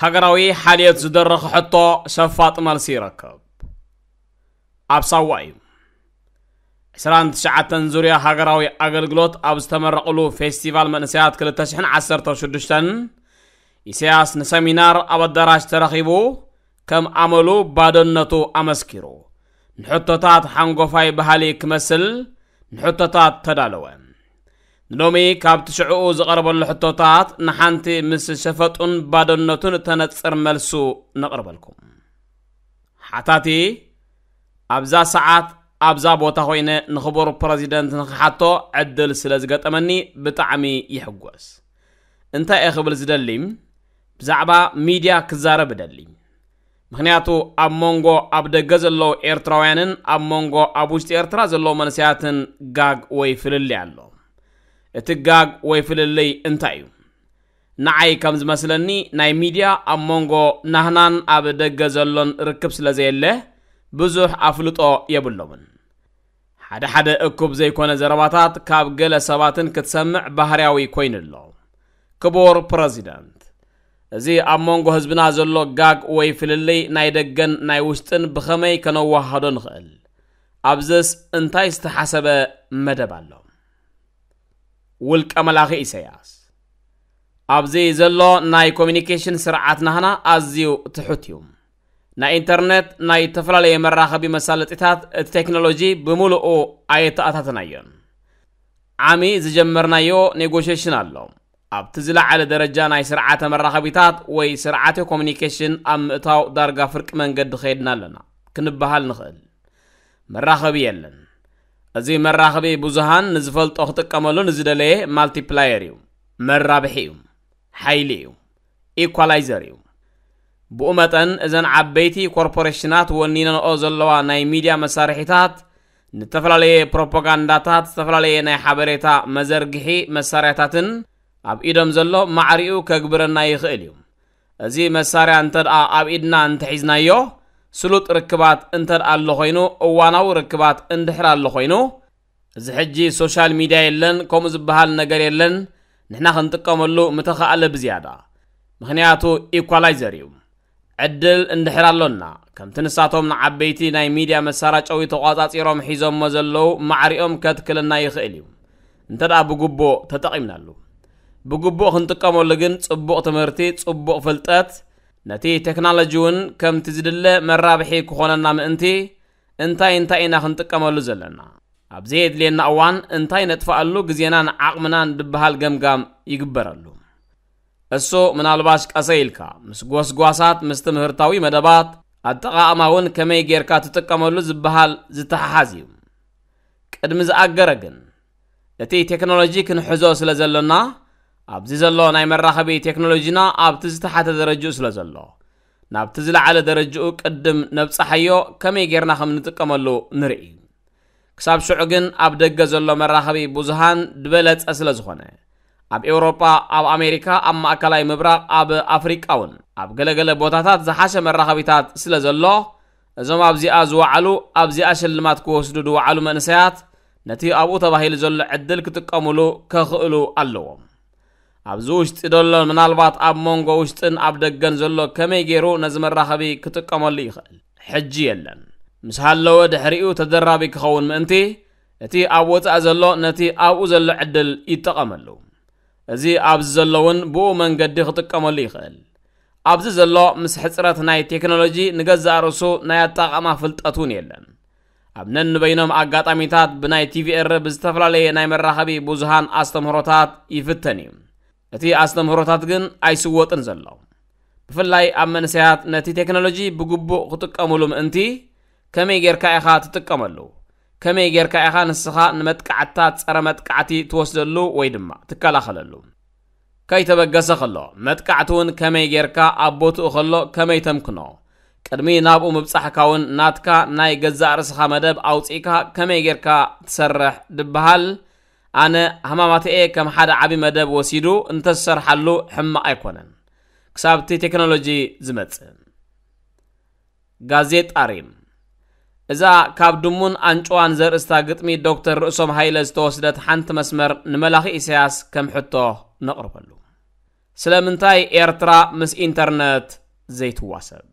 ሃገራዊ ሓልዮት ዝደረኸ ሕቶ ሸፋጥ መልሲ ይረክብ። ኣብ ሳዋ እዩ። ዕስራን ትሽዓተን ዙርያ ሃገራዊ ኣገልግሎት ኣብ ዝተመረቕሉ ፌስቲቫል መንእሰያት ክልተ ሽሕን ዓሰርተ ሽዱሽተን፣ ኢሳያስ ንሰሚናር ኣብ ኣዳራሽ ተረኺቡ ከም ኣመሉ ባዶነቱ ኣመስኪሩ፣ ንሕቶታት ሓንጎፋይ ባህሊ ክመስል ንሕቶታት ተዳለወ። ንሎሚ ካብቲ ሽዕኡ ዝቐረበሉ ሕቶታት ንሓንቲ ምስ ሸፈጡን ባዶነቱን እተነጽር መልሱ ነቕርበልኩም። ሓታቲ፣ ኣብዛ ሰዓት ኣብዛ ቦታ ኮይነ ንኽቡር ፕረዚደንት ንኽሓቶ ዕድል ስለ ዝገጠመኒ ብጣዕሚ ይሕጎስ። እንታይ እየ ክብል ዝደሊ? ብዛዕባ ሚድያ ክዛረብ እደሊ። ምኽንያቱ ኣብ መንጎ ኣብ ደገ ዘለዉ ኤርትራውያንን ኣብ መንጎ ኣብ ውሽጢ ኤርትራ ዘለዉ መንእሰያትን ጋግ ወይ ፍልልይ ኣሎ። እቲ ጋግ ወይ ፍልልይ እንታይ እዩ? ንዓይ ከም ዝመስለኒ ናይ ሚድያ ኣብ መንጎ ናህናን ኣብ ደገ ዘሎን ርክብ ስለ ዘየለ ብዙሕ ኣፍልጦ የብሎምን። ሓደ ሓደ እኩብ ዘይኮነ ዘረባታት ካብ ገለ ሰባትን ክትሰምዕ ባህርያዊ ኮይኑ ኣሎ። ክቡር ፕረዚደንት፣ እዚ ኣብ መንጎ ህዝብና ዘሎ ጋግ ወይ ፍልልይ ናይ ደገን ናይ ውሽጥን ብኸመይ ከነወሃዶ ንኽእል? ኣብዝስ እንታይ ዝተሓሰበ መደብ ኣሎ? ውልቀ መላኺ ኢሳያስ፣ ኣብዚ ዘሎ ናይ ኮሚኒኬሽን ስርዓት ናህና ኣዝዩ ትሑት እዩ። ናይ ኢንተርኔት፣ ናይ ዝተፈላለየ መራኸቢ መሳለጢታት፣ እቲ ቴክኖሎጂ ብምሉኡ ኣየተኣታተናዮን። ዓሚ ዝጀመርናዮ ኔጎሽሽን ኣሎ። ኣብቲ ዝለዓለ ደረጃ ናይ ስርዓተ መራኸቢታት ወይ ስርዓተ ኮሚኒኬሽን ኣብ ምእታው ዳርጋ ፍርቂ መንገዲ ከይድና ኣለና ክንበሃል ንኽእል። መራኸቢ የለን። እዚ መራኸቢ ብዙሃን ንዝፈልጦ ክጥቀመሉ ንዝደለየ ማልቲፕላየር እዩ፣ መራብሒ እዩ፣ ሓይሊ እዩ፣ ኢኳላይዘር እዩ። ብኡ መጠን እዘን ዓበይቲ ኮርፖሬሽናት ወኒነንኦ ዘለዋ ናይ ሚድያ መሳርሒታት ንተፈላለየ ፕሮፓጋንዳታት፣ ዝተፈላለየ ናይ ሓበሬታ መዘርግሒ መሳርያታትን ኣብ ኢዶም ዘሎ ማዕሪኡ ከግብረና ይኽእል እዩ። እዚ መሳርያ እንተ ደኣ ኣብ ኢድና እንተሒዝናዮ፣ ስሉጥ ርክባት እንተ ደኣ ኣሎ ኮይኑ፣ እዋናዊ ርክባት እንድሕር ኣሎ ኮይኑ፣ እዚ ሕጂ ሶሻል ሚድያ የለን፣ ከምኡ ዝበሃል ነገር የለን፣ ንሕና ክንጥቀመሉ ምተኻእለ ብዝያዳ። ምኽንያቱ ኢኳላይዘር እዩ። ዕድል እንድሕር ኣሎና፣ ከምቲ ንሳቶም ንዓበይቲ ናይ ሚድያ መሳራጨዊ ተቋጻጺሮም ሒዞሞ ዘለዉ ማዕሪኦም ከትክለና ይኽእል እዩ። እንተ ደኣ ብግቡእ ተጠቒምናሉ። ብግቡእ ክንጥቀመሉ ግን ጽቡቕ ትምህርቲ፣ ጽቡቕ ፍልጠት፣ ነቲ ቴክኖሎጂ እውን ከምቲ ዝድለ መራብሒ ክኾነና ምእንቲ እንታይ እንታይ ኢና ክንጥቀመሉ ዘለና? ኣብ ዘየድልየና እዋን እንታይ ነጥፍኣሉ ግዜናን ዓቕምናን ድበሃል ገምጋም ይግበረሉ። እሱ ምናልባሽ ቀሰ ኢልካ ምስ ጎስጓሳት፣ ምስ ትምህርታዊ መደባት፣ ኣጠቓቕማ እውን ከመይ ጌርካ ትጥቀመሉ ዝበሃል ዝተሓሓዝ እዩ። ቅድሚ ዝኣገረ ግን፣ እቲ ቴክኖሎጂ ክንሕዞ ስለ ዘሎና፣ ኣብዚ ዘሎ ናይ መራኸቢ ቴክኖሎጂና ኣብቲ ዝተሓተ ደረጅኡ ስለ ዘሎ፣ ናብቲ ዝለዓለ ደረጅኡ ቅድም ነብጽሓዮ፣ ከመይ ጌርና ከም ንጥቀመሉ ንርኢ። ክሳብ ሽዑ ግን ኣብ ደገ ዘሎ መራኸቢ ብዙሃን ዝበለጸ ስለ ዝኾነ፣ ኣብ ኤውሮጳ፣ ኣብ ኣሜሪካ፣ ኣብ ማእከላይ ምብራቕ፣ ኣብ ኣፍሪቃ እውን ኣብ ገለገለ ቦታታት ዝሓሸ መራኸቢታት ስለ ዘሎ፣ እዞም ኣብዚኣ ዝወዓሉ፣ ኣብዚኣ ሽልማት ክወስዱ ዝወዓሉ መንእሰያት ነቲ ኣብኡ ተባሂሉ ዘሎ ዕድል ክጥቀሙሉ ከኽእሉ ኣለዎም። ኣብዚ ውሽጢ ዘሎ፣ ምናልባት ኣብ መንጎ ውሽጥን ኣብ ደገን ዘሎ ከመይ ገይሩ ነዚ መራኸቢ ክጥቀመሉ ይኽእል? ሕጂ የለን። ምስ ሃለወ ድሕሪኡ ተደራቢ ክኸውን ምእንቲ፣ እቲ ኣብ ወጻኢ ዘሎ ነቲ ኣብኡ ዘሎ ዕድል ይጠቐመሉ። እዚ ኣብዚ ዘሎ እውን ብኡ መንገዲ ክጥቀመሉ ይኽእል። ኣብዚ ዘሎ ምስ ሕጽረት ናይ ቴክኖሎጂ ንገዛእ ርእሱ ናይ ኣጠቓቕማ ፍልጠት እውን የለን። ኣብ ነንበይኖም ኣጋጣሚታት ብናይ ቲቪኤር ብዝተፈላለየ ናይ መራኸቢ ብዙሃን ኣስተምህሮታት ይፍተን እዩ። እቲ ኣስተምህሮታት ግን ኣይስወጥን ዘሎ። ብፍላይ ኣብ መንእሰያት ነቲ ቴክኖሎጂ ብግቡእ ክጥቀሙሉ ምእንቲ፣ ከመይ ጌርካ ኢኻ ትጥቀመሉ? ከመይ ጌርካ ኢኻ ንስኻ ንመጥቃዕትታት ጸረ መጥቃዕቲ ትወስደሉ ወይ ድማ ትከላኸለሉ? ከይተበገሰ ከሎ፣ መጥቃዕቲ እውን ከመይ ጌርካ ኣብ ቦትኡ ከሎ ከመይ ተምክኖ? ቅድሚ ናብኡ ምብጻሕካ እውን ናትካ ናይ ገዛእ ርእስኻ መደብ ኣውጺእካ ከመይ ጌርካ ትሰርሕ ድበሃል፣ ኣነ ሃማማተኤ ከም ሓደ ዓቢ መደብ ወሲዱ እንተዝሰርሓሉ ሕማቕ ኣይኮነን። ክሳብ እቲ ቴክኖሎጂ ዝመጽእ። ጋዜጣ ሪም። እዛ ካብ ድሙን ኣንጭዋን ዘርእስታ ግጥሚ ዶክተር ርእሶም ሃይለ ዝተወስደት ሓንቲ መስመር ንመላኺ ኢሳያስ ከም ሕቶ ነቕርበሉ። ስለምንታይ ኤርትራ ምስ ኢንተርነት ዘይትዋሰብ?